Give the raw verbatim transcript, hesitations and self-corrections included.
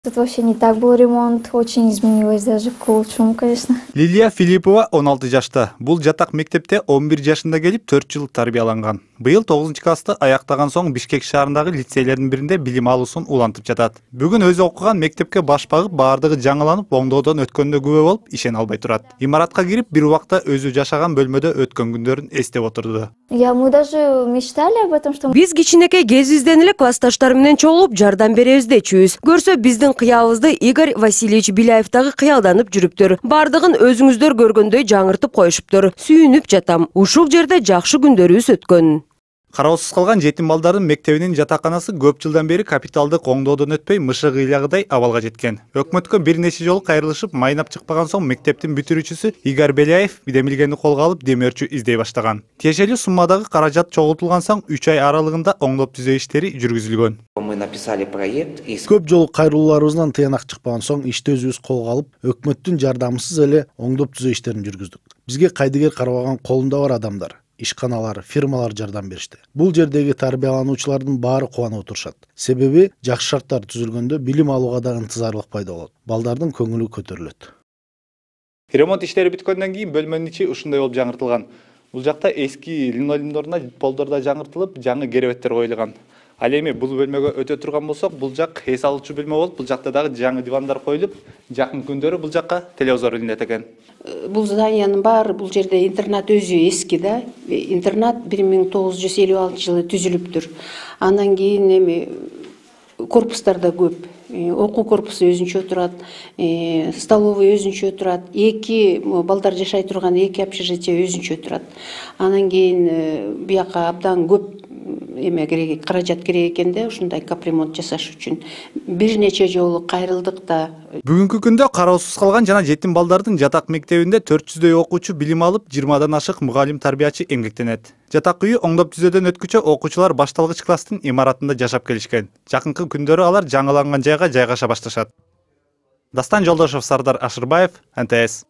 Тут вообще не так был ремонт, очень изменилось даже к лучшему, конечно. Лилия Филиппова он алты жашта. Бул жатак мектепте он бир жашында келип төрт жыл тарбияланган. Быйыл тогузунчу классты аяктаган соң Бишкек шаарындагы лицейлердин биринде билим алуусун улантып жатат. Бүгүн өзү окуган мектепке баш багып, баардыгы жаңыланып, оңдоодон өткөндө күбө болуп, ишене албай турат. Имаратка кирип, бир убакта өзү жашаган бөлмөдө өткөн күндөрүн эстеп отурду. Я мы даже мечтали об этом, что Биз кичинекей кезибизден эле классташтар менен чогулуп жардам беребиз дечүбүз. Көрсө биздин кыялыбызды Игорь Васильевич Беляев дагы кыялданып жүрүптүр. Бардыгын өзүңүздөр көргөндөй жаңыртып коюшуптур. Сүйүнүп жатам. Ушул жерде жакшы күндөрүбүз өткөн. Кароосуз калган жетим балдардын мектебинин жатаканасы көп жылдан бери капиталдык оңдоодон өтпөй, мышык ыйлagыдай абалга жеткен. Өкмөткө бир нече жолу кайрылышып, майнап чыкпаган соң мектептин бүтүрүүчүсү Игорь Беляев демилгени колго алып, демөөрчү издей баштаган. Тиешелүү суммадагы каражат чогултулган соң үч ай аралыгында оңдоп түзөө иштери жүргүзүлгөн. Мы написали проект. Көп жолу кайрылууларыбыздан тыянак чыкпаган соң ишти өзүбүз колго алып, өкмөттүн жардамысыз эле оңдоп түзөө иштерин жүргүздүк. Бизге кайдыгер карабаган колунда бар адамдар, ишканалар, фирмалар жардам беришти. Бул жердеги тарбиялануучулардын баары кубанып отурушат. Себеби жакшы шарттар түзүлгөндө билим алууга да ынтызарлык пайда болот. Балдардын көңүлү көтөрүлөт. Ремонт иштери бүткөндөн кийин бөлмөнүн ичи ушундай болуп жаңыртылган. Бул жакта эски линолеумдоруна полдор да жаңыртылып, жаңы керебеттер коюлган. Ал эми бул бөлмөгө өтө турган болсок, бул жак эс алуучу бөлмө болуп, бул жакта дагы жаңы дивандар коюлуп, жакын күндөрү бул жакка телевизор илинет экен. Бул зданиянын баары, бул жерде интернат өзү эски да. Интернат бир миң тогуз жүз элүү алтынчы жылы түзүлүптүр. Андан кийин эми корпустар да көп. Окуу корпусу өзүнчө турат, столовый өзүнчө турат, эки балдар жашай турган эки общежитие өзүнчө турат. Анан кийин бияка абдан көп эме керек, каражат керек экен да, ушундай капремонт жасаш үчүн. Бир нече жолу кайрылдык да. Бүгүнкү күндө кароосуз калган жана жетим балдардын жатак мектебинде төрт жүздөй окуучу билим алып, жыйырмадан ашык мугалим тарбиячы эмгектенет. Жатак үйү оңдоп түзөөдөн өткүчө окуучулар башталгыч класстын имаратында жашап келишкен. Жакынкы күндөрү алар жаңыланган жайга жайгаша башташат. Дастан Жолдошов, Сардар Ашырбаев, эн тэ эс.